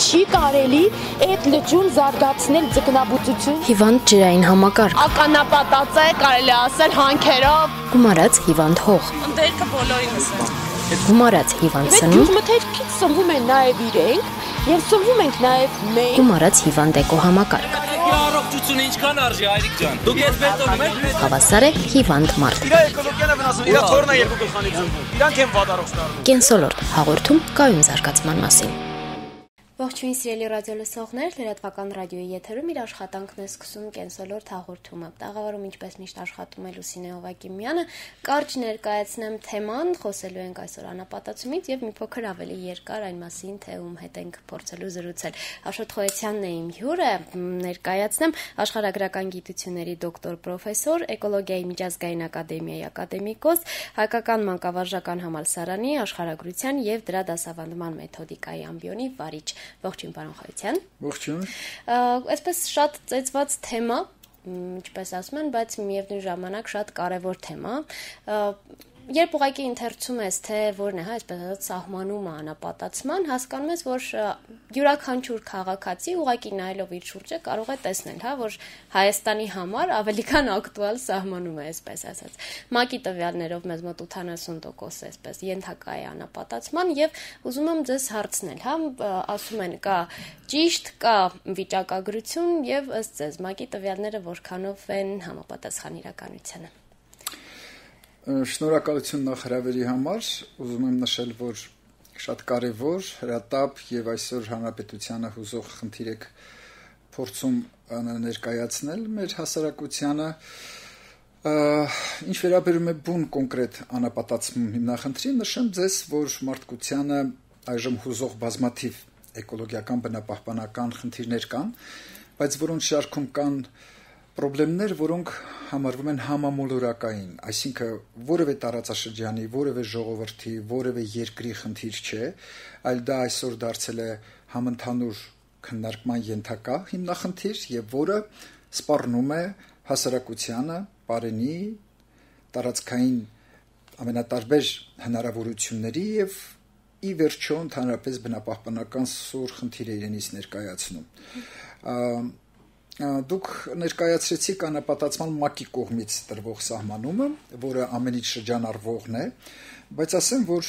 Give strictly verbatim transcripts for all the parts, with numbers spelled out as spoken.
Չի կարելի այդ լճուն զարգացնել ձկնաբուծություն։ Հիվանդ ջրային համակարգ։ Ականապատած է, կարելի ասել հանքերով։ Գումարած հիվանդ հող։ Ընդերքը բոլորինս է։ Գումարած հիվանդ սնունդ։ Գյուղմթերքից սնվում են նաև իրենք եւ սնվում ենք նաև մենք։ Գումարած հիվանդ էկոհամակարգ։ Առողջությունը ինչքան արժի, հայրիկ ջան։ Դուք ես բետոնում եք։ Հավասար է հիվանդ մարդ։ Իրա էկոլոգիան է վնասում, իրա թորնը երկու գլխանից զնվում։ Իրանք են վատառող ստանում։ Կենսոլորտ հաղորդում կայուն զարգացման մասին։ Ողջույն սիրելի ռադիոլսողներ, լրատվական ռադիոյի եթերում իր աշխատանքն է սկսում Կենսոլորտ հաղորդումը։ Տաղավարում ինչպես միշտ աշխատում է Լուսինե Հովակիմյանը, կարճ ներկայացնեմ թեման, խոսելու ենք այսօր անապատացումից եւ մի փոքր ավելի երկար այն մասին, թե ում հետ ենք փորձելու զրուցել։ Աշոտ Խոյացյանն է իմ հյուրը, ներկայացնեմ աշխարհագրական գիտությունների դոկտոր պրոֆեսոր, էկոլոգիայի միջազգային ակադեմիայի ակադեմիկոս, հայկական մանկավարժական համալսարանի աշխարհագրության եւ դրա դասավանդման մեթոդիկայի ամբիոնի վարիչ։ Ողջույն պարոն Խոյացյան։ Ողջույն։ Այսպես շատ ծեծված թեմա, ինչպես ասում են, բայց միևնույն ժամանակ շատ կարևոր թեմա։ Երբ ուղղակի ընթերցում ես, թե որն է, հա, այսպես ասած, սահմանումը անապատացման, հասկանում ես, որ յուրաքանչյուր քաղաքացի ուղղակի նայելով իր շուրջը կարող է տեսնել, հա, որ Հայաստանի համար ավելի քան ակտուալ սահմանում է, այսպես ասած։ ՄԱԿ-ի տվյալներով մեզ մոտ ութանասուն տոկոս է, այսպես, ենթակա է անապատացման եւ ուզում եմ ձեզ հարցնել, հա, ասում են կա ճիշտ, կա վիճակագրություն եւ ըստ ձեզ ՄԱԿ-ի տվյալները որքանով են համապատասխան իրականությանը։ Շնորհակալություն նախ հրավերի համար, ուզում եմ նշել, որ շատ կարևոր, հրատապ եւ այսօր հանրապետությանը հուզող խնդիր եք փորձում ներկայացնել մեր հասարակությանը, ինչ վերաբերում է բուն կոնկրետ անապատացում հիմնախնդրին, նշեմ ձեզ, որ մարդկությանը այժմ հուզող բազմաթիվ էկոլոգիական բնապահպանական խնդիրներ կան, բայց որոնց շարքում կան պրոբլեմներ, որոնք համարվում են համամոլորակային, այսինքն որևէ տարածաշրջանի, որևէ ժողովրդի, որևէ երկրի խնդիր չէ, այլ դա այսօր դարձել է համընդհանուր քննարկման ենթակա հիմնախնդիր եւ որը սպառնում է հասարակությանը, բարենի, տարածքային ամենատարբեր հնարավորությունների եւ ի վերջո ընդհանրապես բնապահպանական սուր խնդիր է իրենից ներկայացնում։ Դուք ներկայացրեցիք անապատացման ՄԱԿ-ի կողմից տրվող սահմանումը, որը ամենից շրջանառվողն է, բայց ասեմ, որ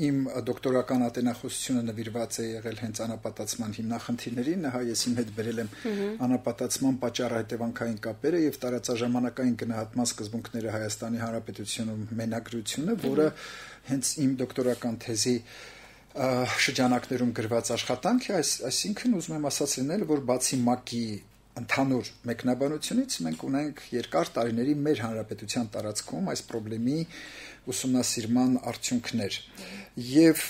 իմ դոկտորական ատենախոսությունը նվիրված է եղել հենց անապատացման հիմնախնդիրներին, հա ես իմ հետ բերել եմ անապատացման պատճառահետևանքային կապերը եւ տարածաժամանակային գնահատման սկզբունքները Հայաստանի Հանրապետությունում մենագրությունը, որը հենց իմ դոկտորական թեզի շրջանակներում գրված աշխատանք է, այսինքն ուզում եմ ասած լինել, որ բացի ՄԱԿ-ի ընդհանուր մեկնաբանությունից մենք ունենք երկար տարիների մեր հանրապետության տարածքում այս խնդրի ուսումնասիրման արդյունքներ եւ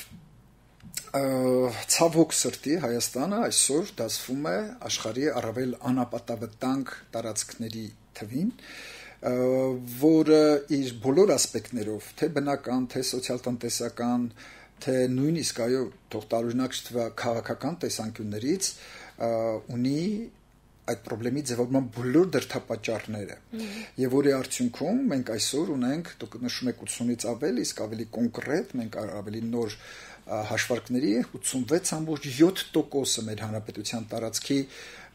ցավոք սրտի Հայաստանը այսօր դասվում է աշխարհի առավել անապատավտանգ տարածքների թվին, որը իր բոլոր ասպեկտներով, թե բնական, թե սոցիալ-տնտեսական, թե նույնիսկ այո, թող տարօրինակ չթվա քաղաքական տեսանկյուններից ունի այդ խնդրի ձևավորման բոլոր դրդապատճառները եւ որի արդյունքում մենք այսօր ունենք, դուք նշում եք ութսունից ավել, իսկ ավելի կոնկրետ մենք ավելի նոր հաշվարկների ութսունվեց ամբողջ յոթ տոկոսը մեր հանրապետության տարածքի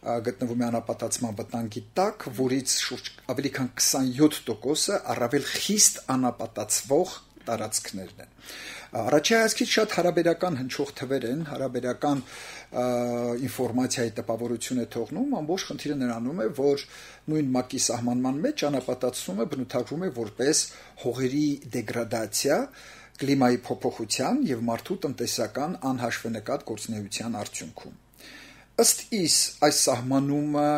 գտնվում է անապատացման վտանգի տակ, որից շուրջ ավելի քան քսանյոթ տոկոսը առավել խիստ անապատացվող տարածքներն են։ Առաջի հայացքից շատ հարաբերական հնչող թվեր են, հարաբերական ինֆորմացիայի տպավորություն է թողնում, ամբողջ խնդիրը նրանում է, որ նույն ՄԱԿ-ի սահմանման մեջ անապատացումը բնութագրվում է որպես հողերի դեգրադացիա, կլիմայի փոփոխության եւ մարդու տնտեսական անհաշվենկատ գործունեության արդյունքում։ Ըստ իս այս սահմանումը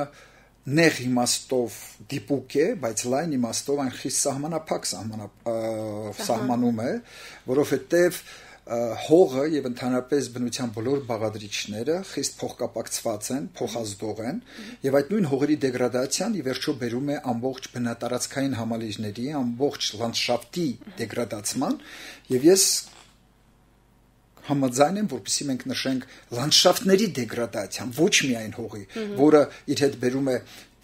նեղ իմաստով դիպուկ է, բայց լայն իմաստով այն խիստ սահմանափակ սահմանում է, որովհետև հողը եւ ընդհանրապես բնության բոլոր բաղադրիչները խիստ փոխկապակցված են, փոխազդող են, եւ այդ նույն հողերի դեգրադացիան ի վերջո բերում է ամբողջ բնատարածքային համալիրների, ամբողջ լանդշաֆտի դեգրադացման, եւ ես համաձայն եմ, որպեսզի մենք նշենք լանդշաֆտների դեգրադացիան, ոչ միայն հողի, որը իր հետ բերում է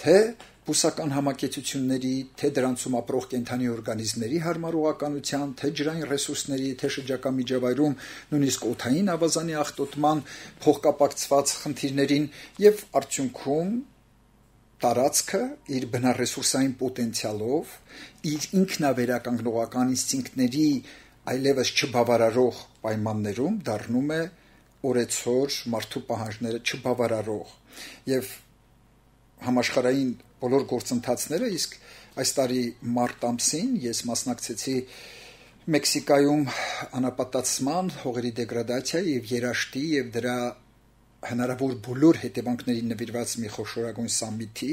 թե բուսական համակեցությունների, թե դրանցում ապրող կենդանի օրգանիզմների հարմարողականության, թե ջրային ռեսուրսների, թե շրջակա միջավայրում նույնիսկ օդային ավազանի աղտոտման փոխկապակցված խնդիրներին եւ արդյունքում տարածքը իր բնարեսուրսային պոտենցիալով, իր ինքնավերականգնողական ինստինկտների այլևս չբավարարող պայմաններում դառնում է օրեցօր մարդու պահանջները չբավարարող եւ համաշխարհային բոլոր գործընթացները, իսկ այս տարի մարտ ամսին ես մասնակցեցի Մեքսիկայում անապատացման, հողերի դեգրադացիայի եւ երաշտի եւ դրա հնարավոր բոլոր հետևանքներին նվիրված մի խոշորագույն սամիթի,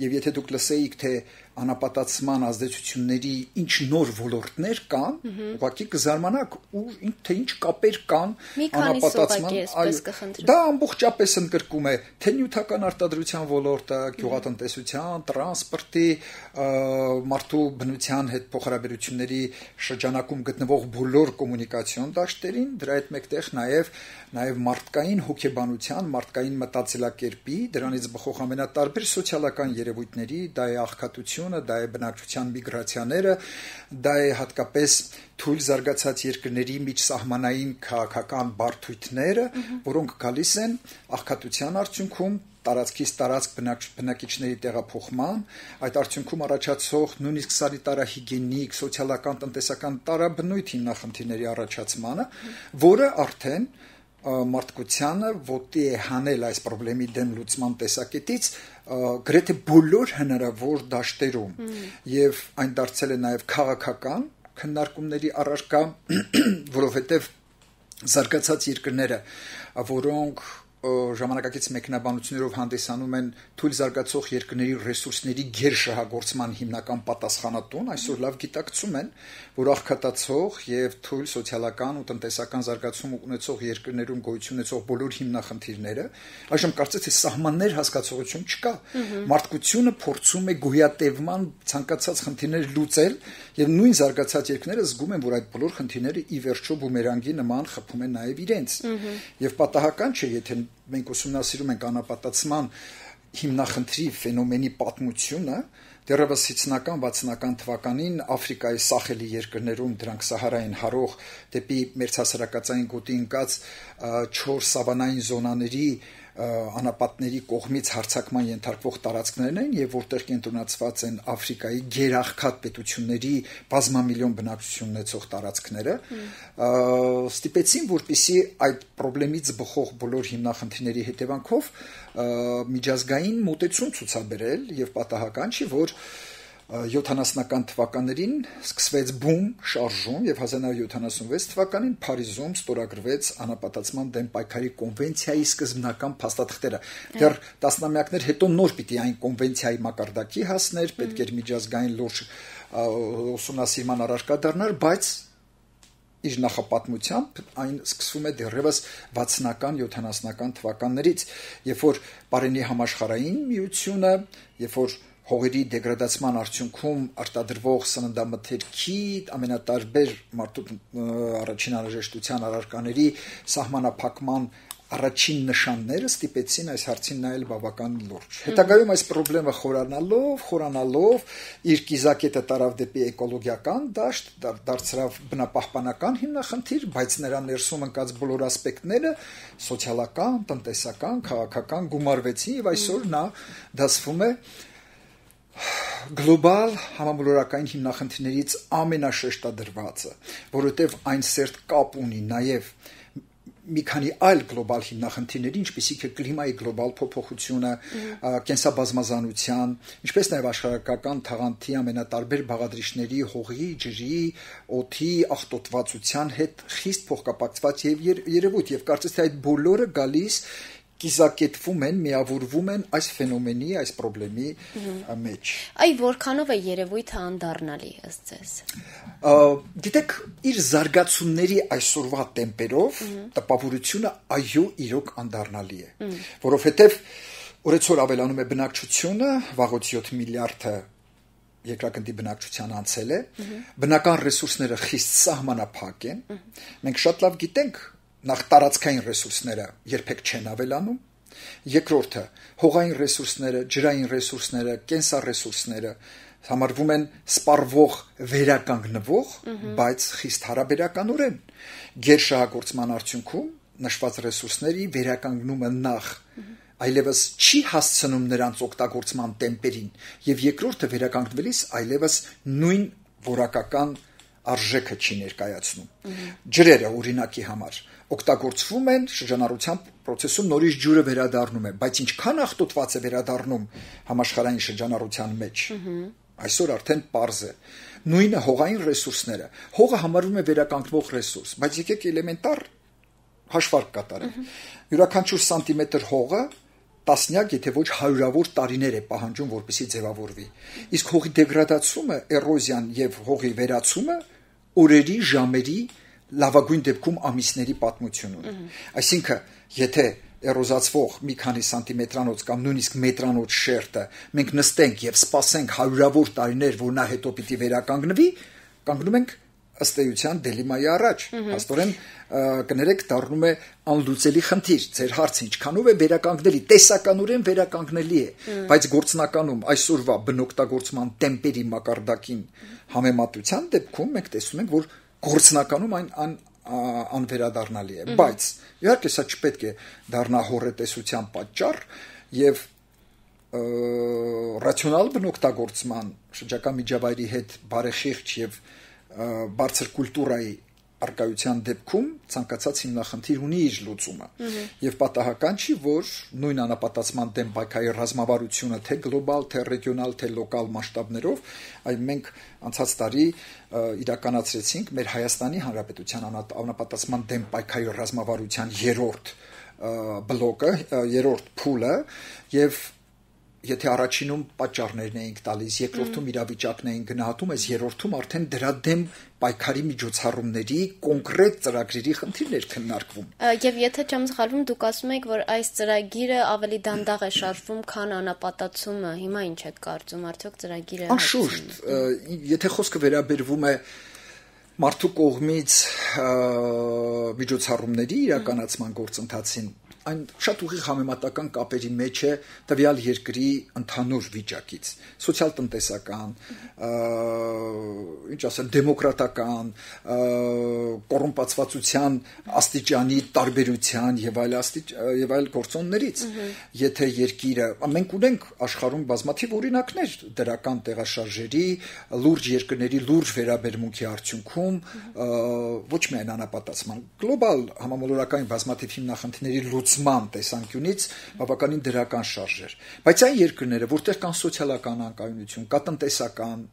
եւ եթե դուք լսեիք, թե անապատացման ազդեցությունների ինչ նոր ոլորտներ կան, ուղղակի կզարմանաք, ու թե ինչ կապեր կան անապատացման, դա ամբողջապես ընդգրկում է թե նյութական արտադրության ոլորտը, գյուղատնտեսության, տրանսպորտի, մարդու բնության հետ փոխհարաբերությունների շրջանակում գտնվող բոլոր կոմունիկացիոն դաշտերին, դրա հետ մեկտեղ նաեւ նաեւ մարդկային հոգեբանության, մարդկային մտածելակերպի, դրանից բխող ամենատարբեր սոցիալական երևույթների, դա է աղքատությունը, դա է բնակչության միգրացիաները, դա է հատկապես թույլ զարգացած երկրների միջսահմանային քաղաքական բարդույթները, որոնք գալիս են աղքատության արդյունքում տարածքից տարածք բնակիչների տեղափոխման, այդ արդյունքում առաջացող նույնիսկ սանիտարահիգիենիկ, սոցիալական, տնտեսական տարաբնույթ հիմնախնդիրների առաջացմանը, որը արդեն մարդկությանը ոտի է հանել այս խնդրի դեմ լուծման տեսակետից գրեթե բոլոր հնարավոր դաշտերում եւ այն դարձել է նաեւ քաղաքական քննարկումների առարկա, որովհետեւ զարգացած երկրները, որոնք ժամանակակից մեկնաբանություններով հանդիսանում են թույլ զարգացող երկրների ռեսուրսների գերշահագործման հիմնական պատասխանատուն, այսօր լավ գիտակցում են, որ աղքատացող եւ թույլ սոցիալական ու տնտեսական զարգացում ունեցող երկրներում գոյություն ունեցող բոլոր հիմնախնդիրները, այժմ կարծես թե սահմաններ հասկացողություն չկա։ Մարդկությունը փորձում է գոյատևման ցանկացած խնդիրներ լուծել եւ նույն զարգացած երկրները զգում են, որ այդ բոլոր խնդիրները ի վերջո բումերանգի նման խփում են նաեւ իրենց։ Եվ պատահական չէ, եթե մենք ուսումնասիրում ենք անապատացման հիմնախնդրի ֆենոմենի պատմությունը, դեռևս հիցնական վաթսունական թվականին Աֆրիկայի Սախելի երկրներում դրանք Սահարային հարող դեպի մերձհասարակածային գոտի ընկած չորս սավանային զոնաների անապատների կողմից հարձակման ենթարկվող տարածքներն են եւ որտեղ կենտրոնացված են Աֆրիկայի գերաղքատ պետությունների բազմամիլիոն բնակչություն ունեցող տարածքները, ստիպեցին, որպեսզի այդ խնդրից բխող բոլոր հիմնախնդիրների հետևանքով միջազգային մոտեցում ցուցաբերել եւ պատահական չի, որ յոթանասունական թվականներին սկսվեց բում շարժում եւ հազար նավը յոթանասունվեց թվականին Փարիզում ստորագրվեց անապատացման դեմ պայքարի կոնվենցիայի սկզբնական փաստաթղթերը։ Դեռ տասնամյակներ հետո նոր պիտի այն կոնվենցիայի մակարդակի հասներ, պետք էր միջազգային լուրջ ուսումնասիրման առարկա դառնար, բայց իր նախապատմությամբ այն սկսվում է դեռևս վաթսունական յոթանասունական թվականներից, երբ որ Պարենի համաշխարհային միությունը, երբ որ հողերի դեգրադացման արդյունքում արտադրվող սննդամթերքի ամենատարբեր մարդու առաջին անհրաժեշտության առարկաների սահմանափակման առաջին նշանները ստիպեցին այս հարցին նայել բավական լուրջ։ Հետագայում այս խնդրը խորանալով, խորանալով իր կիզակետը տարավ դեպի էկոլոգիական դաշտ, դարձավ բնապահպանական հիմնախնդիր, բայց նրա ներսում ընկած բոլոր ասպեկտները սոցիալական, տնտեսական, քաղաքական գումարվեցին եւ այսօր նա դասվում է գլոբալ համամոլորակային հիմնախնդիրներից ամենաշեշտադրվածը, որովհետև այն սերտ կապ ունի նաև մի քանի այլ գլոբալ հիմնախնդիրների, ինչպիսիք է կլիմայի գլոբալ փոփոխությունը, կենսաբազմազանության, ինչպես նաև աշխարհակական թաղանթի ամենատարբեր բաղադրիչների, հողի, ջրի, օդի աղտոտվածության հետ խիստ փոխկապակցված եւ երևույթ, եւ կարծես թե այդ բոլորը գալիս կիզակետվում են, միավորվում են այս ֆենոմենի, այս խնդրի մեջ։ Այ որքանով է երևույթը անդառնալի ըստ ձեզ։ Գիտեք, իր զարգացումների այսօրվա տեմպերով տպավորությունը այո իրոք անդառնալի է, որովհետև օրեցօր ավելանում է բնակչությունը, վաղուց յոթ միլիարդը երկրագնդի բնակչության անցել է, բնական ռեսուրսները խիստ սահմանափակ են, մենք շատ լավ գիտենք, նախ տարածքային ռեսուրսները երբեք չեն ավելանում, Երկրորդը հողային ռեսուրսները, ջրային ռեսուրսները, կենսառեսուրսները համարվում են սպառվող վերականգնվող, բայց խիստ հարաբերականորեն գերշահագործման արդյունքում նշված ռեսուրսների վերականգնումը նախ այլևս չի հասցնում նրանց օգտագործման տեմպերին եւ երկրորդը վերականգնվելիս այլևս նույն որակական արժեքը չի ներկայացնում։ Ջրերը օրինակի համար օգտագործվում են շրջանառության process-ում նորից ջուրը վերադառնում է, բայց ինչքան աղտոտված է վերադառնում համաշխարհային շրջանառության մեջ։ Այսօր արդեն պարզ է։ Նույնը հողային ռեսուրսները։ Հողը համարվում է վերականգնվող ռեսուրս, բայց եկեք էլեմենտար հաշվարկ կատարենք։ Յուրաքանչյուր սանտիմետր հողը տասնյակ, եթե ոչ հարյուրավոր տարիներ է պահանջում, որպեսզի ձևավորվի։ Իսկ հողի դեգրադացումը, էրոզիան եւ հողի վերացումը օրերի, ժամերի, լավագույն դեպքում ամիսների պատմություն ունի։ Այսինքն, եթե էրոզացվող մի քանի սանտիմետրանոց կամ նույնիսկ մետրանոց շերտը մենք նստենք եւ սպասենք հարյուրավոր տարիներ, որ նա հետո պիտի վերականգնվի, կանգնում ենք ըստ էության դելիմայի առաջ։ Հաստորեն կներեք դառնում է անլուծելի խնդիր։ Ձեր հարցը ինչքանով է վերականգնելի, տեսականորեն վերականգնելի է, բայց գործնականում այսօրվա բնօգտագործման տեմպերի մակարդակին համեմատության դեպքում մենք տեսնում ենք, որ գործնականում այն ան անվերադառնալի է, բայց իհարկե սա չպետք է դառնա հոռետեսության պատճառ եւ ռացիոնալ բնօգտագործման շրջակա միջավայրի հետ բարեխիղճ եւ բարձր կուլտուրայի արկայության դեպքում ցանկացած հիմնախնդիր ունի իր լուծումը եւ պատահական չի, որ նույն անապատացման դեմ պայքարի ռազմավարությունը թե գլոբալ, թե ռեգիոնալ, թե լոկալ մասշտաբներով, այլ մենք անցած տարի իրականացրեցինք մեր Հայաստանի Հանրապետության անապատացման դեմ պայքարի ռազմավարության երրորդ բլոկը, երրորդ փուլը եւ եթե առաջինում պատճառներն էինք տալիս, երկրորդում իրավիճակն էինք գնահատում, այս երրորդում արդեն դրա դեմ պայքարի միջոցառումների կոնկրետ ծրագրերի խնդիրներ քննարկվում։ Եվ եթե չեմ սխալվում, դուք ասում եք, որ այս ծրագիրը ավելի դանդաղ է շարժվում, քան անապատացումը։ Հիմա ինչ եք կարծում, արդյոք ծրագիրը Անշուշտ, եթե խոսքը վերաբերվում է մարդու կողմից միջոցառումների իրականացման գործընթացին, այն շատ ուղիղ համեմատական կապերի մեջ է տվյալ երկրի ընդհանուր վիճակից, սոցիալ-տնտեսական, ինչ ասեմ, դեմոկրատական, կոռումպացվածության աստիճանի տարբերության եւ այլ եւ այլ գործոններից։ Եթե երկիրը, մենք ունենք աշխարհում բազմաթիվ օրինակներ դրական տեղաշարժերի, լուրջ երկրների լուրջ վերաբերմունքի արդյունքում, ոչ միայն անապատացման, գլոբալ համամոլորակային բազմաթիվ հիմնախնդիրների լուծման տեսանկյունից բավականին դրական շարժեր, բայց այն երկրները, որտեղ կան սոցիալական անկայունություն, կա տնտեսական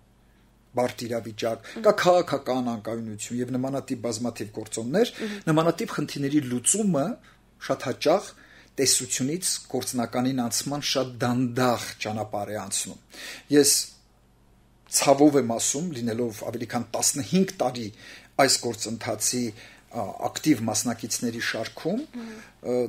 բարդ իրավիճակ, կա քաղաքական անկայունություն եւ նմանատիպ բազմաթիվ գործոններ, նմանատիպ խնդիրների լուծումը շատ հաճախ տեսությունից գործնականին անցման շատ դանդաղ ճանապարհ է անցնում։ Ես ցավով եմ ասում, լինելով ավելի քան տասնհինգ տարի այս գործընթացի ակտիվ մասնակիցների շարքում,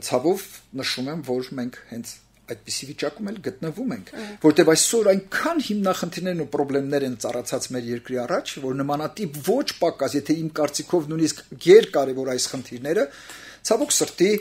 ցավով նշում եմ, որ մենք հենց այդպիսի վիճակում էլ գտնվում ենք, որտեղ այսօր այնքան հիմնախնդիրներն ու խնդիրներ են ծառացած մեր երկրի առաջ, որ նմանատիպ ոչ պակաս, եթե իմ կարծիքով նույնիսկ գերկարևոր այս խնդիրները, ցավոք սրտի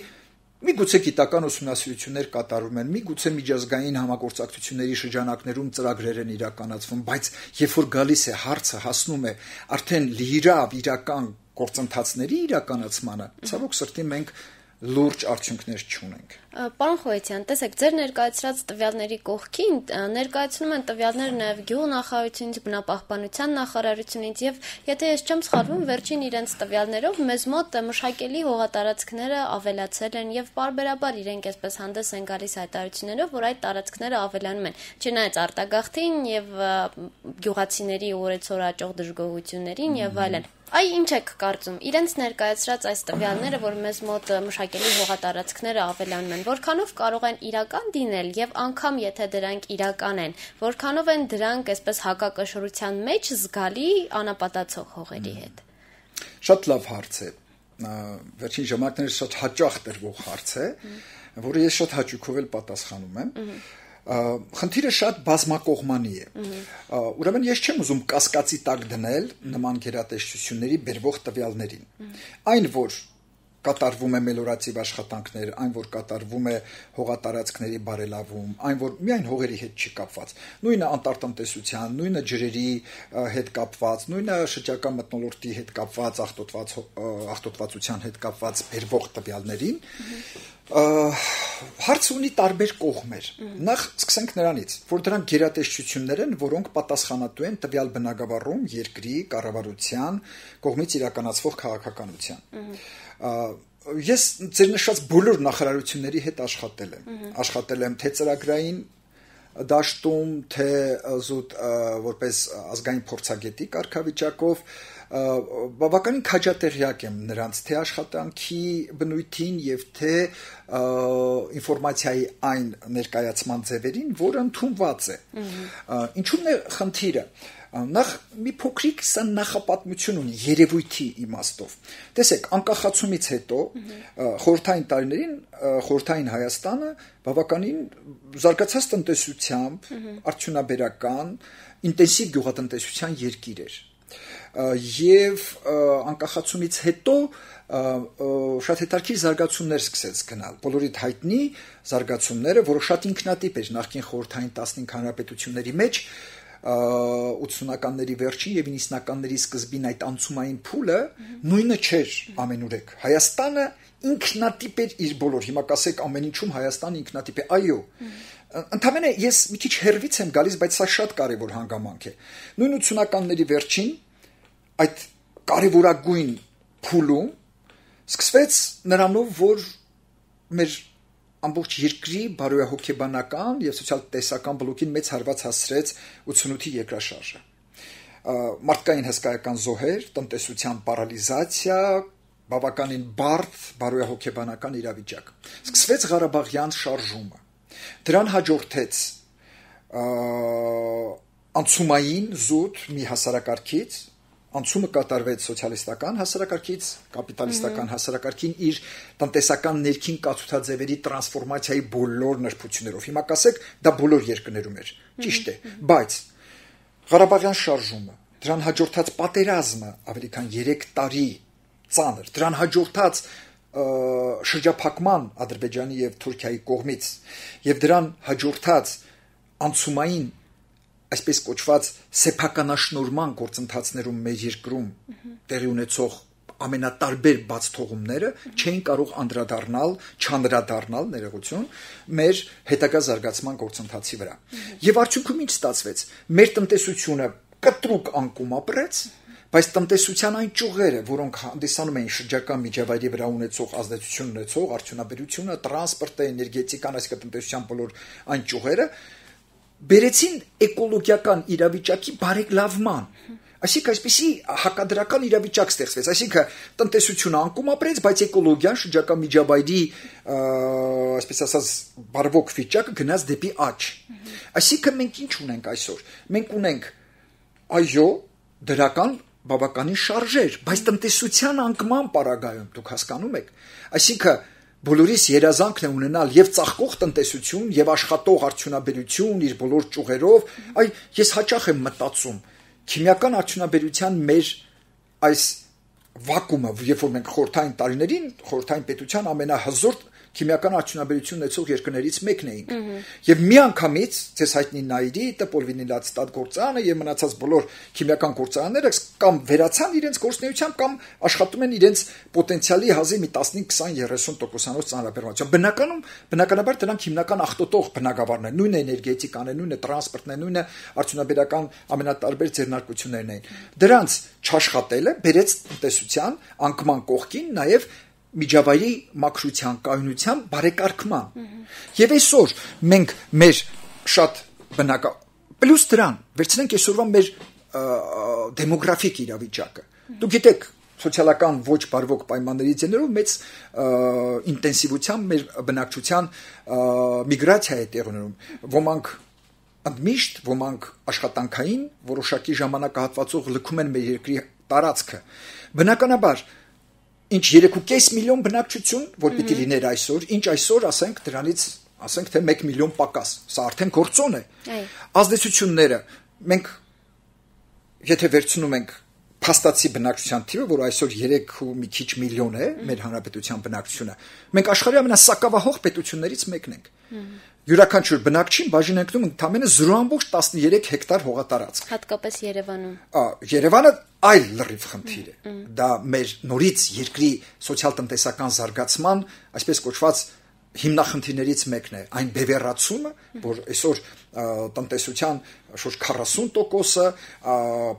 միգուցե գիտական ուսումնասիրություններ կատարվում են, միգուցե միջազգային համագործակցությունների շրջանակներում ծրագրեր են իրականացվում, բայց երբ որ գալիս է հարցը հասնում է արդեն լիիրավ իրական գործընթացների իրականացմանը, ցավոք սրտի մենք լուրջ արդյունքներ չունենք։ Պարոն Խոյցյան, տեսեք, ձեր ներկայացրած տվյալների կողքին ներկայացնում են տվյալներ նաև գյուղնախարարությունից, բնապահպանության նախարարությունից եւ եթե ես չեմ սխալվում, վերջին իրենց տվյալներով մեզ մոտ մշակելի հողատարածքները ավելացել են եւ պարբերաբար իրենք այսպես հանդես են գալիս հայտարարություններով, որ այդ տարածքները ավելանում են։ Չնայած արտագաղթին եւ գյուղացիների օրեցօր աճող դժգոհություններին եւ այլն։ Այ ինչ եք կարծում, իրենց ներկայացրած այս տվյալները, որ մեզ մոտ մշակելի հողատարածքները ավելանում են, որքանով կարող են իրական լինել եւ անգամ եթե դրանք իրական են, որքանով են դրանք այսպես հակակշռության մեջ զգալի անապատացող հողերի հետ։ Շատ լավ հարց է։ Վերջին ժամանակներս շատ հաճախ տրվող հարց է, որը ես շատ հաճույքով էլ պատասխանում եմ։ Խնդիրը շատ բազմակողմանի է։ Ուրեմն ես չեմ ուզում կասկածի տակ դնել նման գերատեսչությունների բերվող տվյալներին։ Այն որ կատարվում է մելորացիվ աշխատանքներ, այն որ կատարվում է հողատարածքների բարելավում, այն որ միայն հողերի հետ չի կապված, նույնը անտարտնտեսության, նույնը ջրերի հետ կապված, նույնը շրջակա մթնոլորտի հետ կապված, աղտոտված աղտոտվածության հետ կապված բերվող տվյալներին, հարցը ունի տարբեր կողմեր։ Նախ սկսենք նրանից, որ դրանք գերատեսչություններ են, որոնք պատասխանատու են տվյալ բնագավառում երկրի կառավարության կողմից իրականացվող քաղաքականության։ Ես ձեր նշած բոլոր նախարարությունների հետ աշխատել եմ, աշխատել եմ թե ծրագրային դաշտում, թե զուտ որպես ազգային փորձագետի կարգավիճակով, բավականին քաջատեղյակ եմ նրանց թե աշխատանքի բնույթին եւ թե ինֆորմացիայի այն ներկայացման ձևերին, որը ընդունված է։ Ինչու՞մն է խնդիրը։ Նախ մի փոքրիկ սա նախապատմություն ունի երևույթի իմաստով։ Տեսեք, անկախացումից հետո խորհրդային տարիներին խորհրդային Հայաստանը բավականին զարգացած տնտեսությամբ, արդյունաբերական, ինտենսիվ գյուղատնտեսության երկիր էր։ Եվ անկախացումից հետո շատ հետաքրքիր զարգացումներ սկսեց գնալ։ Բոլորիդ հայտնի զարգացումները, որը շատ ինքնատիպ էր նախկին խորհրդային տասնհինգ հանրապետությունների մեջ, ութսունականների վերջին եւ իննսունականների սկզբին այդ անցումային փուլը նույնը չէր ամենուրեք։ Հայաստանը ինքնատիպ էր իր բոլոր, հիմա կասեք ամեն ինչում Հայաստանը ինքնատիպ է, այո։ Ընդհանրապես ես մի քիչ հերվից եմ գալիս, բայց սա շատ կարևոր հանգամանք է։ Նույն ութսունականների վերջին այդ կարևորագույն փուլում սկսվեց նրանով, որ մեր ամբողջ երկրի բարոյահոգեբանական եւ սոցիալ-տնտեսական բլոկին մեծ հարված հասցրեց ութսունութի երկրաշարժը։ Մարդկային հսկայական զոհեր, տնտեսության պարալիզացիա, բավականին բարդ բարոյահոգեբանական իրավիճակ։ Սկսվեց Ղարաբաղյան շարժումը։ Դրան հաջորդեց անցումային զուտ մի հասարակարգից, անցումը կատարվեց սոցիալիստական հասարակարգից կապիտալիստական հասարակարգին իր տնտեսական ներքին կացութաձևերի տրանսֆորմացիայի բոլոր նրբություններով։ Հիմա կասեք, դա բոլոր երկրներում էր։ Ճիշտ է, բայց Ղարաբաղյան շարժումը, դրան հաջորդած պատերազմը ավելի քան երեք տարի ծանր, դրան հաջորդած շրջափակման Ադրբեջանի եւ Թուրքիայի կողմից եւ դրան հաջորդած անցումային այսպես կոչված սեփականաշնորհման գործընթացներում մեր երկրում տեղի ունեցող ամենատարբեր բաց թողումները չէին կարող անդրադառնալ, չանդրադառնալ ներողություն մեր հետագա զարգացման գործընթացի վրա։ Եվ արդյունքում ինչ ստացվեց։ Մեր տնտեսությունը կտրուկ անկում ապրեց, բայց տնտեսության այն ճյուղերը, որոնք հանդիսանում էին շրջակա միջավայրի վրա ունեցող ազդեցություն ունեցող արդյունաբերությունը, տրանսպորտը, էներգետիկան, այսինքն տնտեսության բոլոր այն ճյուղերը բերեցին էկոլոգիական իրավիճակի բարելավման։ Այսինքն այսպիսի հակադրական իրավիճակ ստեղծվեց, այսինքն տնտեսությունը անկում ապրեց, բայց էկոլոգիան շրջակա միջավայրի, այսպես ասած, բարվոք վիճակը գնաց դեպի աճ։ Այսինքն մենք ինչ ունենք այսօր։ Մենք ունենք այո, դրական բավականին շարժեր, բայց տնտեսության անկման պարագայում դուք հասկանում եք։ Այսինքն բոլորիս երազանքն է ունենալ եւ ծաղկող տնտեսություն եւ աշխատող արդյունաբերություն իր բոլոր ճյուղերով, այ ես հաճախ եմ մտածում քիմիական արդյունաբերության մեր այս վակումը, երբ որ մենք խորհրդային տարիներին խորհրդային պետության ամենահզոր քիմիական արդյունաբերություն ունեցող երկրներից մեկն էինք։ Եվ միանգամից ցես հայտնի Նայիրի, Տպոլվինիլատստատ գործարանը եւ մնացած բոլոր քիմիական գործարանները կամ վերացան իրենց գործունեությամբ կամ աշխատում են իրենց պոտենցիալի հազի մի տասնհինգ, քսան, երեսուն տոկոսանոց ծանրաբեռնությամբ։ Բնականում բնականաբար դրանք հիմնական աղտոտող բնագավառներն են, նույնը էներգետիկան է, նույնը տրանսպորտն է, նույնը արդյունաբերական ամենատարբեր ձեռնարկություններն են։ Դրանց չաշխատելը բերեց տնտեսության անկման կողքին նաեւ միջավայրի մաքրության, կայունության բարեկարգման։ Եվ այսօր մենք մեր շատ բնական պլյուս դրան վերցնենք այսօրվա մեր դեմոգրաֆիկ իրավիճակը։ Դուք գիտեք, սոցիալական ոչ բարվոք պայմանների ձեռներով մեծ ինտենսիվությամբ մեր բնակչության միգրացիա է տեղի ունենում։ Ոմանք ընդմիշտ, ոմանք աշխատանքային, որոշակի ժամանակահատվածով լքում են մեր երկրի տարածքը։ Բնականաբար ինչ երեք ու կես միլիոն բնակչություն, որ պիտի լիներ այսօր, ինչ այսօր ասենք դրանից, ասենք թե մեկ միլիոն պակաս, սա արդեն գործոն է։ Ազդեցությունները մենք եթե վերցնում ենք փաստացի բնակչության թիվը, որ այսօր երեք ու մի քիչ միլիոն է, մեր հանրապետության բնակչությունը, մենք աշխարհի ամենասակավահող պետություններից մեկն ենք։ Յուրաքանչյուր բնակչին բաժին ընկնում ընդամենը զրո ամբողջ տասներեք հեկտար հողատարածք։ Հատկապես Երևանում։ Երևանը այլ լրիվ խնդիր է։ Դա մեր նորից երկրի սոցիալ-տնտեսական զարգացման, այսպես կոչված հիմնախնդիրներից մեկն է, այն բևեռացումը, որ այսօր տնտեսության շուրջ քառասուն տոկոսը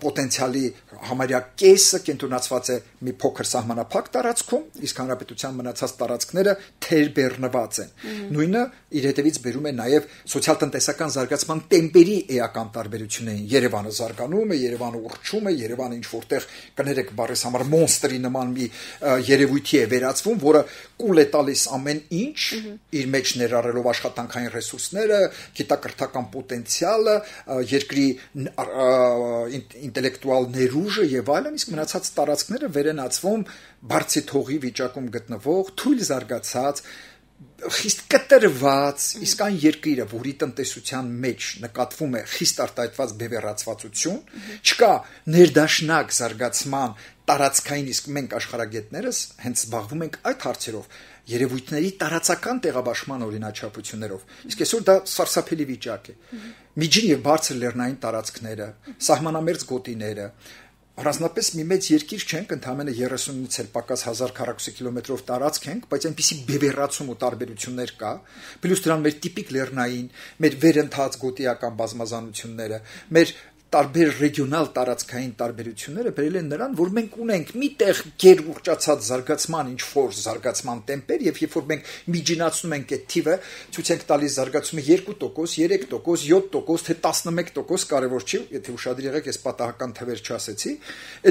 պոտենցիալի համարյա կեսը կենտրոնացված է մի փոքր սահմանափակ տարածքում, իսկ հանրապետության մնացած տարածքները թերբեռնված են։ Նույնը իր հետևից բերում է նաև սոցիալ-տնտեսական զարգացման տեմպերի էական տարբերություններին։ Երևանը զարգանում է, Երևանը ուռչում է, Երևանը ինչ որտեղ կներեք բառես համար մոնստրի նման մի երևույթի է վերածվում, որը կուլ է տալիս ամեն ինչ, իր մեջ ներառելով աշխատանքային ռեսուրսները, գիտակրթական պոտենցիալը, երկրի ինտելեկտուալ ներուժը եւ այլն, իսկ մնացած տարածքները վերենացվում բարձի թողի վիճակում գտնվող, թույլ զարգացած, խիստ կտրված, իսկ այն երկիրը, որի տնտեսության մեջ նկատվում է խիստ արտահայտված բևեռացվածություն, չկա ներդաշնակ զարգացման տարածքային, իսկ մենք աշխարհագետներս հենց զբաղվում ենք այդ հարցերով, երևույթների տարածական տեղաբաշխման օրինաչափություններով։ Իսկ այսօր դա սարսափելի վիճակ է։ Միջին եւ բարձր լեռնային տարածքները, սահմանամերձ գոտիները, առանձնապես մի մեծ երկիր չենք, ընդամենը երեսունից էլ պակաս հազար քառակուսի կիլոմետրով տարածք ենք, բայց այնպիսի բևեռացում ու տարբերություններ կա, պլյուս դրան մեր տիպիկ լեռնային, մեր վերընթաց գոտիական բազմազանությունները, մեր տարբեր ռեգիոնալ տարածքային տարբերությունները բերել են նրան, որ մենք ունենք միտեղ գեր ուռճացած զարգացման ինչ որ զարգացման տեմպեր, եւ երբ որ մենք միջինացնում ենք այդ թիվը, ցույց ենք տալիս զարգացումը երկու տոկոս, երեք տոկոս, յոթ տոկոս, թե տասնմեկ տոկոս, կարևոր չի, եթե ուշադիր եղեք, ես պատահական թվեր չասեցի,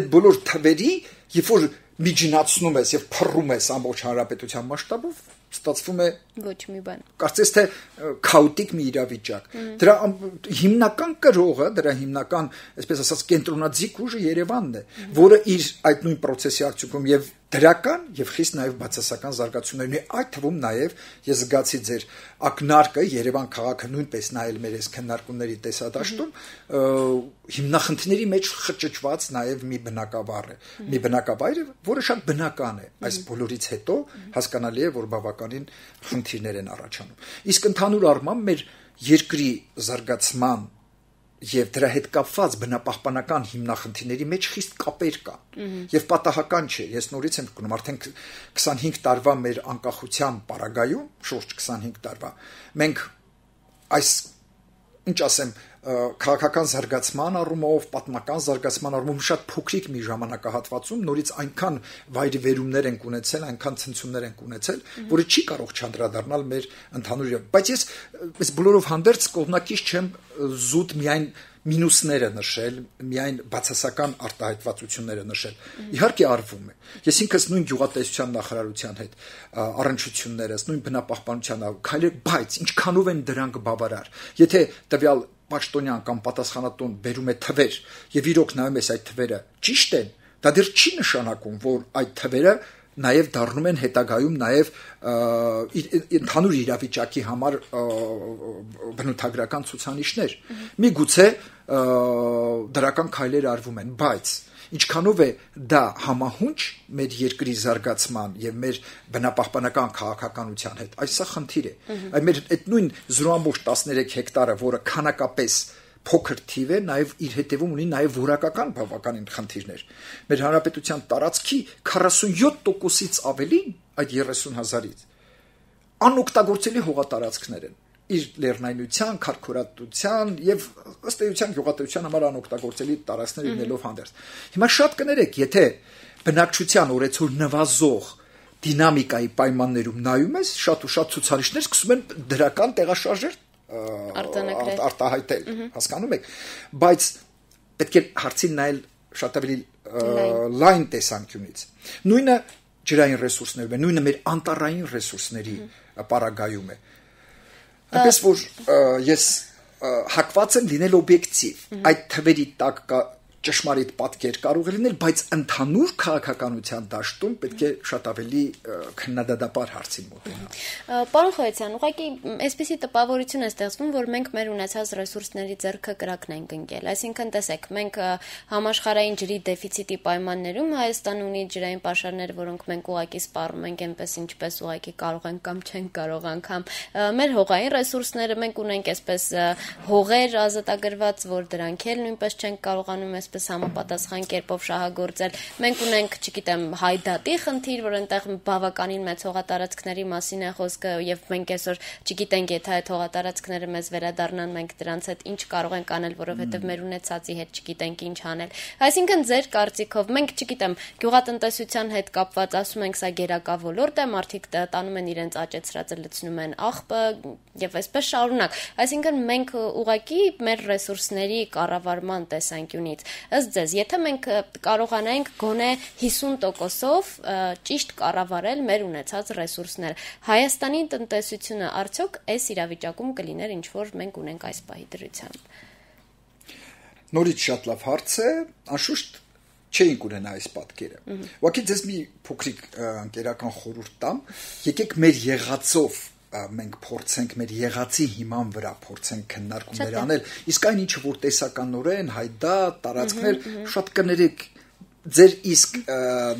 այդ բոլոր թվերի, երբ որ միջինացնում ես եւ փռում ես ամբողջ հանրապետության մասշտաբով, ստացվում է ոչ մի բան։ Կարծես թե քաոտիկ մի իրավիճակ։ Դրա հիմնական կրողը, դրա հիմնական, այսպես ասած, կենտրոնաձիգ ուժը Երևանն է, որը իր այդ նույն process-ի արդյունքում եւ դրական եւ խիստ նաեւ բացասական զարգացումներն է, այդ թվում նաեւ ես զգացի ձեր ակնարկը Երևան քաղաքը նույնպես նայել մեր այս քննարկումների տեսադաշտում հիմնախնդիրների մեջ խճճված նաեւ մի բնակավար է, մի բնակավայր, որը շատ բնական է, այս բոլորից հետո հասկանալի է, որ բավականին խնդիրներ են առաջանում։ Իսկ ընդհանուր առմամբ մեր երկրի զարգացման եւ դրա հետ կապված բնապահպանական հիմնախնդիրների մեջ խիստ կապեր կան եւ պատահական չէ, ես նորից եմ գնում արդեն քսանհինգ տարվա մեր անկախության պարագայում, շուրջ քսանհինգ տարվա, մենք այս ինչ ասեմ քաղաքական զարգացման առումով, պատմական զարգացման առումով շատ փոքրիկ մի ժամանակահատվածում նորից այնքան վայրիվերումներ են ունեցել, այնքան ցնցումներ են ունեցել, որը չի կարող չանդրադառնալ մեր ընդհանուր, բայց ես այս բոլորով հանդերձ կողմնակից չեմ զուտ միայն մինուսները նշել, միայն բացասական արտահայտվածությունները նշել։ Իհարկե արվում է։ Ես ինքս նույն գյուղատնտեսության նախարարության հետ առնչություններս, նույն բնապահպանության քայլեր, բայց ինչքանով են դրանք բավարար։ Եթե տվյալ պաշտոնյան կամ պատասխանատուն բերում է թվեր եւ իրոք նայում ես այդ թվերը ճիշտ են, դա դեռ չի նշանակում, որ այդ թվերը նաև դառնում են հետագայում նաև ընդհանուր իրավիճակի համար բնութագրական ցուցանիշներ։ Միգուցե դրական քայլեր արվում են, բայց ինչքանով է դա համահունչ մեր երկրի զարգացման եւ մեր բնապահպանական քաղաքականության հետ, այս սա խնդիր է։ Այդ մեր այդ նույն զրո ամբողջ տասներեք հեկտարը, որը քանակապես փոքր թիվ է, նաև իր հետևում ունի նաև որակական բավականին խնդիրներ։ Մեր հանրապետության տարածքի քառասունյոթ տոկոսից ավելին այդ երեսուն հազարից անօգտագործելի հողատարածքներ են։ Իր լեռնայնության, քարքորատության եւ ըստ էության գյուղատնտեսության համար անօգտագործելի տարածքներ լինելով հանդերձ։ Հիմա շատ կներեք, եթե բնակչության օրեցօր նվազող դինամիկայի պայմաններում նայում ես, շատ ու շատ ցուցանիշներ սկսում են դրական տեղաշարժեր արտահայտել, հասկանում եք, բայց պետք է հարցին նայել շատ ավելի լայն տեսանկյունից։ Նույնը ջրային ռեսուրսներում է, նույնը մեր անտառային ռեսուրսների պարագայում է։ Այնպես որ ես հակված եմ լինել օբյեկտիվ, այդ թվերի տակ կա ճշմարիտ պատկեր կարող է լինել, բայց ընդհանուր քաղաքականության դաշտում պետք է շատ ավելի քննադատաբար հարցին մոտենալ։ Պարոն Խոյացյան, ուղղակի այսպիսի տպավորություն է ստեղծվում, որ մենք մեր ունեցած ռեսուրսների ձեռքը կրակն ենք ընկել։ Այսինքն, տեսեք, մենք համաշխարհային ջրի դեֆիցիտի պայմաններում Հայաստանը ունի ջրային պաշարներ, որոնք մենք ուղղակի սպառում ենք այնպես, ինչպես ուղղակի կարող ենք կամ չենք կարող անգամ։ Մեր հողային ռեսուրսները մենք ունենք այսպես հողեր ազատագրված, որ դրանք էլ նույնպես չենք կարողանում այսպես համապատասխան կերպով շահագործել։ Մենք ունենք, չգիտեմ, հայդատի խնդիր, որ այնտեղ բավականին մեծ հողատարածքների մասին է խոսքը եւ մենք այսօր չգիտենք, եթե այդ հողատարածքները մեզ վերադառնան, մենք դրանց հետ ինչ կարող ենք անել, որովհետեւ մեր ունեցածի հետ չգիտենք ինչ անել։ Այսինքն ձեր կարծիքով մենք, չգիտեմ, գյուղատնտեսության հետ կապված ասում ենք, սա գերակա ոլորտ է, մարդիկ տանում են իրենց աճեցրածը լցնում են աղբը եւ այսպես շարունակ։ Այսինքն մենք ուղղակի մեր ռեսուրսների կառավարման տեսանկյունից ըստ ձեզ, եթե մենք կարողանայինք գոնե հիսուն տոկոսով ճիշտ կառավարել մեր ունեցած ռեսուրսները, Հայաստանի տնտեսությունը արդյոք այս իրավիճակում կլիներ, ինչ որ մենք ունենք այս պահի դրությամբ։ Նորից շատ լավ հարց է, անշուշտ չէինք ունենա այս պատկերը։ Ուղղակի ձեզ մի փոքրիկ ընկերական խորհուրդ տամ, եկեք մեր եղածով մենք փորձենք մեր եղածի հիման վրա փորձենք քննարկումներ անել, իսկ այն ինչը որ տեսականորեն հայդա տարածքներ շատ կներեք ձեր իսկ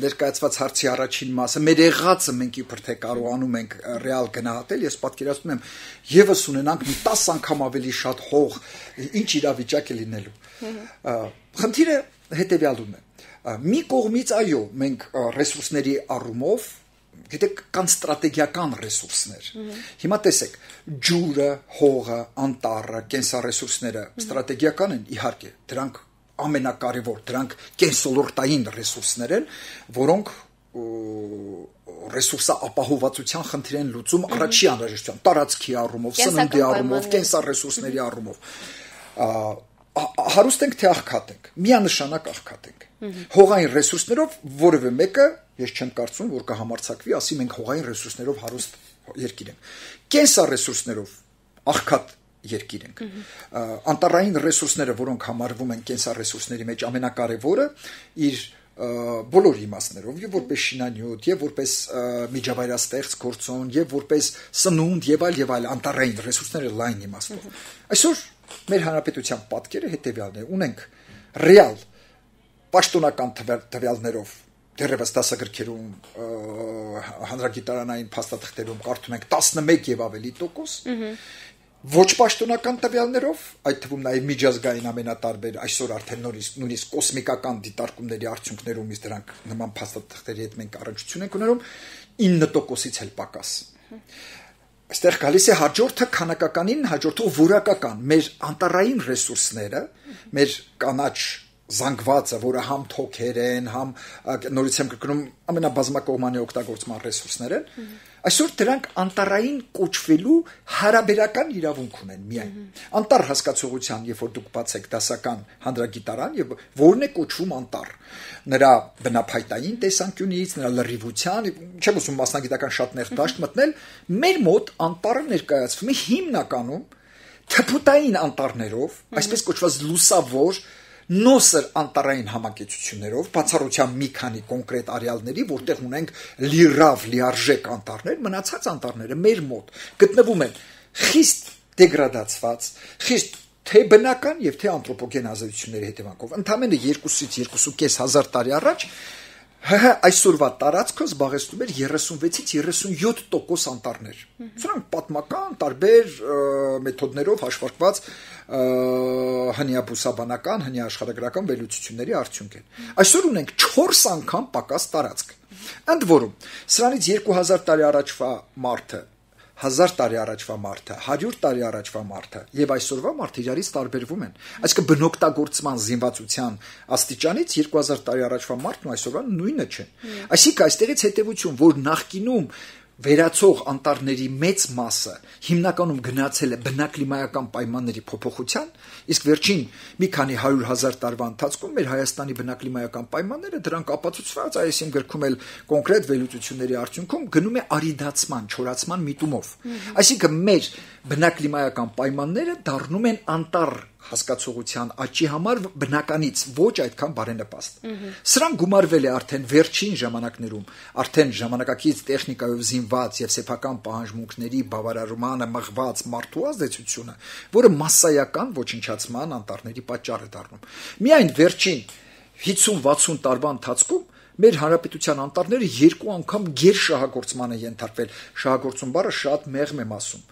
ներկայացված հարցի առաջին մասը մեր եղածը մենք իբր թե կարողանում ենք ռեալ գնահատել, ես պատկերացնում եմ եւս ունենանք մի տասը անգամ ավելի շատ հող, ինչ իրավիճակ է լինելու։ Խնդիրը հետեւյալում է։ Մի կողմից այո, մենք ռեսուրսների առումով գիտեք կան ստրատեգիական ռեսուրսներ։ Հիմա տեսեք, ջուրը, հողը, անտառը, կենսառեսուրսները ստրատեգիական են, իհարկե, դրանք ամենակարևոր, դրանք կենսոլորտային ռեսուրսներ են, որոնք ռեսուրսա ապահովվածության խնդիր են լուծում առաջի անհրաժեշտության, տարածքի առումով, սննդի առումով, կենսառեսուրսների առումով։ Հարուստ ենք թե աղքատ ենք, միանշանակ աղքատ ենք։ Հողային ռեսուրսներով որևէ մեկը, ես չեմ կարծում, որ կհամարձակվի, ասի մենք հողային ռեսուրսներով հարուստ երկիր ենք։ Կենսառեսուրսներով աղքատ երկիր ենք։ Անտառային ռեսուրսները, որոնք համարվում են կենսառեսուրսների մեջ ամենակարևորը, իր բոլոր իմաստներով, եւ որպես շինանյութ, եւ որպես միջավայրաստեղծ գործոն, եւ որպես սնունդ եւ այլ եւ այլ անտառային ռեսուրսները լայն իմաստով։ Այսօր մեր հանրապետության պատկերը հետեւյալն է. ունենք ռեալ պաշտոնական տվյալներով դեռևս դասագրքերում հանրագիտարանային փաստաթղթերում կարդում ենք տասնմեկ եւ ավելի տոկոս, ոչ պաշտոնական տվյալներով, այդ թվում նաեւ միջազգային ամենատարբեր այսօր արդեն նույնիսկ կոսմիկական դիտարկումների արդյունքներում իսկ դրանք նման փաստաթղթերի հետ մենք առնչություն ենք ունենում ինը տոկոսից էլ պակաս։ Այստեղ գալիս է հաջորդը քանակականին, հաջորդող որակական մեր անտառային ռեսուրսները, մեր կանաչ զանգվածը, որը համ թոքեր են, համ նորից եմ կրկնում ամենաբազմակողմանի օգտագործման ռեսուրսներ են, այսօր դրանք անտառային կոչվելու հարաբերական իրավունք ունեն միայն։ Անտառ հասկացողության, երբ որ դուք բացեք դասական հանրագիտարան, եւ որն է կոչվում անտառ, նրա բնափայտային տեսանկյունից, նրա լրիվության, չեմ ուզում մասնագիտական շատ նեղ դաշտ մտնել, մեր մոտ անտառը ներկայացվում է հիմնականում թփուտային անտառներով, այսպես կոչված լուսավոր նոսր անտառային համակեցություններով, բացառությամբ մի քանի կոնկրետ արյալների, որտեղ ունենք լիրավ, լիարժեք անտառներ, մնացած անտառները մեր մոտ գտնվում են խիստ դեգրադացված, խիստ թե բնական եւ թե անթրոպոգեն ազդեցությունների հետևանքով։ Ընդամենը երկուսից երկուսուկես հազար տարի առաջ այսօրվա տարածքը զբաղեցնում էր երեսունվեցից երեսունյոթ տոկոս անտառներ։ Սրանք պատմական տարբեր մեթոդներով հաշվարկված հնիաբուսաբանական, հնիաշխարհագրական վերլուծությունների արդյունք են։ Այսօր ունենք չորս անգամ պակաս տարածք։ Ընդ որում, սրանից երկու հազար տարի առաջվա մարդը, հազար տարի առաջվա մարդը, հարյուր տարի առաջվա մարդը եւ այսօրվա մարդը իրարից տարբերվում են։ Այսինքն բնօգտագործման զինվածության աստիճանից երկու հազար տարի առաջվա մարդն ու այսօրվա նույնը չեն։ Այսինքն այստեղից հետեւություն, որ նախկինում վերացող անտառների մեծ մասը հիմնականում գնացել է բնակլիմայական պայմանների փոփոխության, իսկ վերջին մի քանի հարյուր հազար տարվա ընթացքում մեր Հայաստանի բնակլիմայական պայմանները դրանք ապացուցված, այս իմ գրքում էլ կոնկրետ վերլուծությունների արդյունքում գնում է արիդացման, չորացման միտումով։ Այսինքն մեր բնակլիմայական պայմանները դառնում են անտառ հասկացողության աճի համար բնականից ոչ այդքան բարենպաստ։ Սրան գումարվել է արդեն վերջին ժամանակներում, արդեն ժամանակակից տեխնիկայով զինված եւ սեփական պահանջմունքների բավարարմանը մղված մարդու ազդեցությունը, որը massայական ոչնչացման անտառների պատճառ է դառնում։ Միայն վերջին հիսուն-վաթսուն տարվա ընթացքում մեր հանրապետության անտառները երկու անգամ գերշահագործման են ենթարկվել։ Շահագործում բառը շատ մեղմ եմ ասում։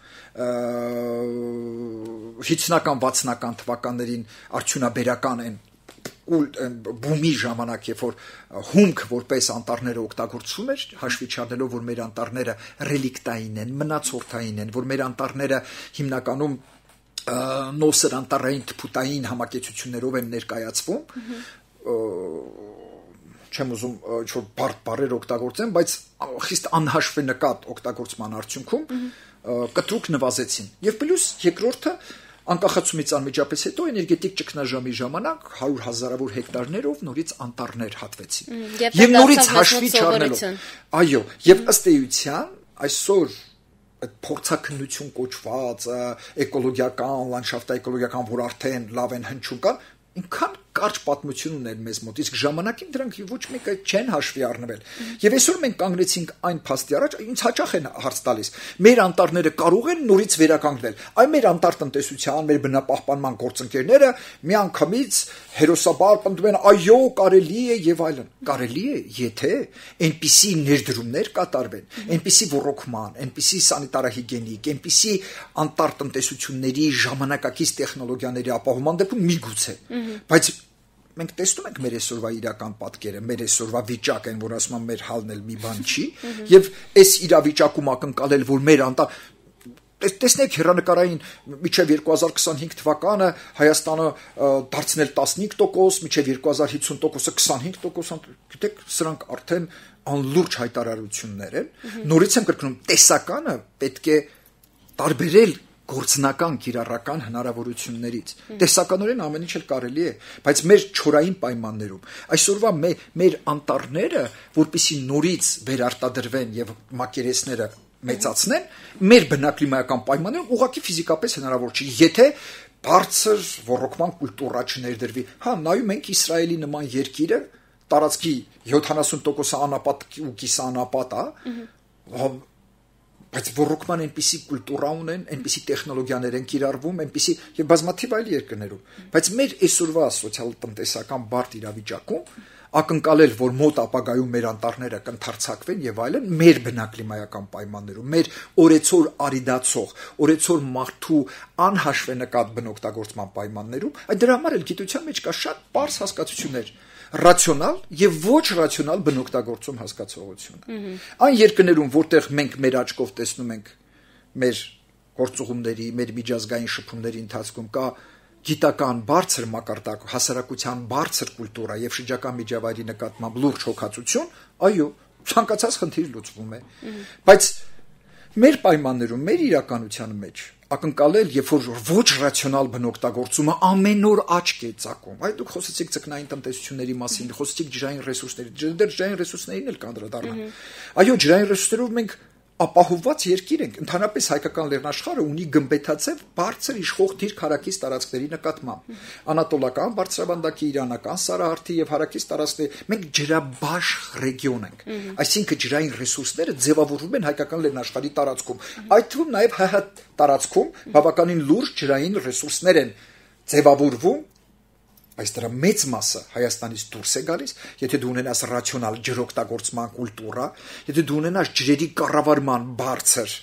հինգսունական վաթսունական թվականներին արդյունաբերական են բումի ժամանակ, երբ որ հումք որպես անտառները օգտագործվում էր, հաշվի չառնելով, որ մեր անտառները ռելիկտային են, մնացորդային են, որ մեր անտառները հիմնականում նոսր անտառային թփուտային համակեցություններով են ներկայացվում, չեմ ուզում ինչ-որ բարդ բառեր օգտագործեմ, բայց խիստ անհաշվենկատ օգտագործման արդյունքում կտրուկ նվազեցին։ Եվ պլյուս երկրորդը անկախացումից անմիջապես հետո էներգետիկ ճգնաժամի ժամանակ հարյուր հազարավոր հեկտարներով նորից անտառներ հատվեցին։ Եվ նորից հաշվի չառնելով։ Այո, եւ ըստ էության այսօր այդ փորձաքննություն կոչված էկոլոգիական, լանդշաֆտաէկոլոգիական, որ արդեն լավ են հնչում կան, ինքան կարճ պատմություն ուներ մեզ մոտ, իսկ ժամանակին դրանք ոչ մեկը չեն հաշվի առնվել։ Եվ այսօր մենք կանգնեցինք այն փաստի առաջ, ինձ հաճախ են հարց տալիս. մեր անտառները կարող են նորից վերականգնել։ Այ մեր անտառ տնտեսության, մեր բնապահպանման գործընկերները միանգամից հերոսաբար պնդում են, այո, կարելի է եւ այլն։ Կարելի է, եթե այնպիսի ներդրումներ կատարվեն, այնպիսի ոռոգման, այնպիսի սանիտարահիգիենիկ, այնպիսի անտառ տնտեսությունների ժամանակակից տեխնոլոգիաների ապահովման դեպքում միգուցե, բայց մենք տեսնում ենք մեր այսօրվա իրական պատկերը, մեր այսօրվա վիճակը, որ ասում եմ մեր հալն էլ մի բան չի, եւ այս իրավիճակում ակնկալել, որ մեր անտառ տեսնեք հեռանկարային մինչև երկու հազար քսանհինգ թվականը Հայաստանը դարձնել տասնհինգ տոկոս, մինչև երկու հազար հիսուն տոկոսը քսանհինգ տոկոս, գիտեք, սրանք արդեն անլուրջ հայտարարություններ են։ Նորից եմ կրկնում, տեսականը պետք է տարբերել գործնական կիրառական հնարավորություններից։ Տեսականորեն ամեն ինչ էլ կարելի է, բայց մեր չորային պայմաններում այսօրվա մեր, մեր անտառները, որպեսզի նորից վերարտադրվեն եւ մակերեսները մեծացնեն, մեր բնակլիմայական պայմաններում ուղղակի ֆիզիկապես հնարավոր չի, եթե բարձր ոռոգման կուլտուրա չներդրվի։ Հա, նայում ենք Իսրայելի նման երկիրը, տարածքի յոթանասուն տոկոսը անապատ ու կիսաանապատ է, բայց ոռոգման այնպիսի կուլտուրա ունեն, այնպիսի տեխնոլոգիաներ են կիրառվում, այնպիսի եւ բազմաթիվ այլ երկրներում, բայց մեր այսօրվա սոցիալ-տնտեսական բարդ իրավիճակում ակնկալել, որ մոտ ապագայում մեր անտառները կընթարցակվեն եւ այլն, մեր բնակլիմայական պայմաններում, մեր օրեցօր արիդացող, օրեցօր մարդու անհաշվենկատ բնօգտագործման պայմաններում, այդ դրա համար էլ գիտության մեջ կա շատ պարզ հասկացություններ, ռացիոնալ եւ ոչ ռացիոնալ բնօգտագործում հասկացողությունը։ Այն երկրներում, որտեղ մենք մեր աչքով տեսնում ենք մեր գործուղումների, մեր միջազգային շփումների ընթացքում կա գիտական բարձր մակարդակ, հասարակության բարձր կուլտուրա եւ շրջակա միջավայրի նկատմամբ լուրջ հոգացություն, այո, ցանկացած խնդիր լուծվում է։ Բայց մեր պայմաններում, մեր իրականության մեջ ակնկալել, երբ որ ոչ ռացիոնալ բնօգտագործումը ամեն օր աչք է ծակում։ Այ դուք խոսեցիք ձկնային տնտեսությունների մասին, խոսեցիք ջրային ռեսուրսների, դեռ ջրային ռեսուրսներին էլ կանդրադառնամ։ Այո, ջրային ռեսուրսներով մենք ապահովված երկիր ենք, ընդհանրապես հայկական լեռնաշխարհը ունի գմբեթաձև բարձր իշխող դիրք հարակից տարածքների նկատմամբ։ Անատոլական բարձրավանդակի, իրանական սարահարթի եւ հարակից տարածքների մենք ջրաբաշխ ռեգիոն ենք։ Այսինքն ջրային ռեսուրսները ձևավորվում են հայկական լեռնաշխարհի տարածքում։ Այդ թվում նաեւ ՀՀ տարածքում բավականին լուրջ ջրային ռեսուրսներ են ձևավորվում, բայց դրա մեծ մասը Հայաստանից դուրս է գալիս, եթե դու ունենաս ռացիոնալ ջրօգտագործման կուլտուրա, եթե դու ունենաս ջրերի կառավարման բարձր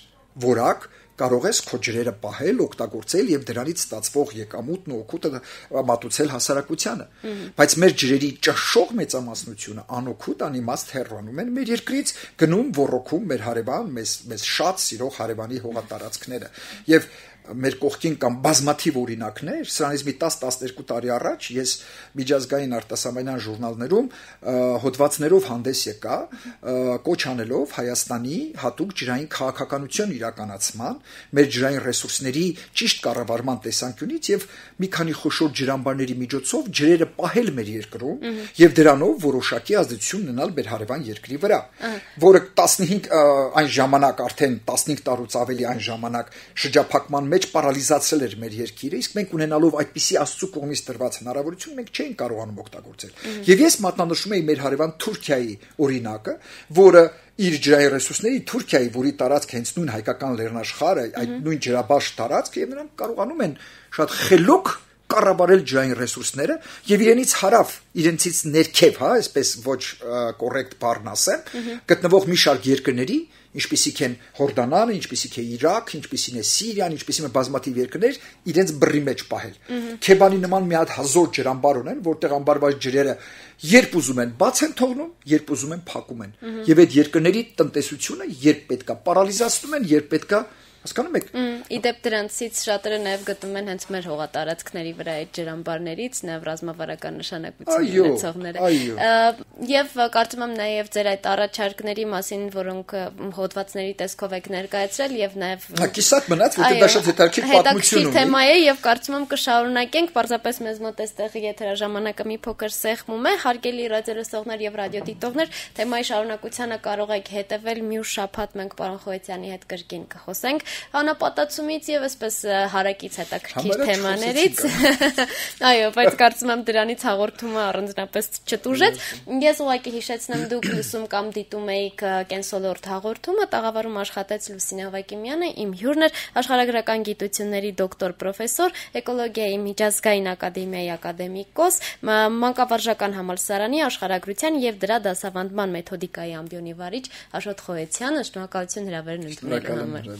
որակ, կարող ես քո ջրերը պահել, օգտագործել եւ դրանից ստացվող եկամուտն ու օգուտը մատուցել հասարակությանը։ Բայց մեր ջրերի ճշշող մեծամասնությունը անօգուտ անիմաստ հեռանում են մեր երկրից, գնում ոռոգում մեր հարևան, մեզ մեզ շատ սիրող հարևանի հողատարածքները։ Եվ մեր կողքին կամ բազմաթիվ օրինակներ, սրանից մի տասը տասներկու տարի առաջ ես միջազգային արտասահմանյան ժուրնալներում հոդվածներով հանդես եկա, կոչ անելով Հայաստանի հատուկ ջրային քաղաքականություն իրականացման մեր ջրային ռեսուրսների ճիշտ կառավարման տեսանկյունից եւ մի քանի խոշոր ջրամբարների միջոցով ջրերը պահել մեր երկրում եւ դրանով որոշակի ազդեցություն ունենալ մեր հարևան երկրի վրա, որը տասնհինգ այն ժամանակ արդեն տասնհինգ տարուց ավելի այն ժամանակ շրջափակման մեջ պարալիզացրել էր մեր երկիրը, իսկ մենք ունենալով այդպիսի Աստծո կողմից տրված հնարավորություն մենք չէինք կարողանում օգտագործել։ Եվ ես մատնանշում եի մեր հարևան Թուրքիայի օրինակը, որը իր ջրային ռեսուրսների Թուրքիայի, որի տարածք հենց նույն հայկական լեռնաշխարհը, այդ նույն ջրաբաշխ տարածքը, եւ նրանք կարողանում են շատ խելոք կառավարել ջրային ռեսուրսները եւ իրենից հարավ, իրենցից ներքև, հա, այսպես ոչ կոռեկտ բառն ասեմ, գտնվող մի շարք երկրների, ինչպիսիք են Հորդանանը, ինչպիսիք է Իրաք, ինչպիսին է Սիրիան, ինչպիսին է բազմաթիվ երկրներ, իրենց բռի մեջ պահել։ Քեբանի նման մի հատ հազոր ջրամբար ունեն, որտեղ ամբարված ջրերը երբ ուզում են բաց են թողնում, երբ ուզում են փակում են։ Եվ այդ երկրների տնտեսությունը երբ պետքա պարալիզացնում են, երբ պետքա, հասկանում եք։ Իդեպ դրանցից շատերը նաև գտնում են հենց մեր հողատարածքների վրա այդ ջրամբարներից, նաև ռազմավարական նշանակություն ունեցողները։ Եվ կարծում եմ նաև ձեր այդ առաջարկների մասին, որոնք հոդվածների տեսքով եք ներկայացրել եւ նաև Կիսատ մնաց, որտեղ դա շատ հետաքրքիր պատմություն ունի։ Թեմա է եւ կարծում եմ կշարունակենք, պարզապես մեզ մոտ էստեղ եթերաժամանակը մի փոքր սեղմում է, հարգելի ռադիոլսողներ եւ ռադիոդիտողներ, թեմայի շարունակությանը կարող եք հետեւել մյուս շաբաթ մենք պարոն Խոյցյանի հետ կրկին կխոսենք անապատացումից եւ այսպես հարակից հետաքրքիր թեմաներից։ Այո, բայց կարծում եմ դրանից հաղորդումը առանձնապես չտուժեց։ Ես ուղղակի հիշեցնեմ, դուք լսում կամ դիտում եք Կենսոլորտ հաղորդումը, տաղավարում աշխատեց Լուսինե Ավագիմյանը, իմ հյուրն էր աշխարհագրական գիտությունների դոկտոր պրոֆեսոր, էկոլոգիայի միջազգային ակադեմիայի ակադեմիկոս, մանկավարժական համալսարանի աշխարհագրության եւ դրա դասավանդման մեթոդիկայի ամբիոնի վարիչ Աշոտ Խոյցյանը։ Շնորհակալություն հրավերն ընդունելու համար։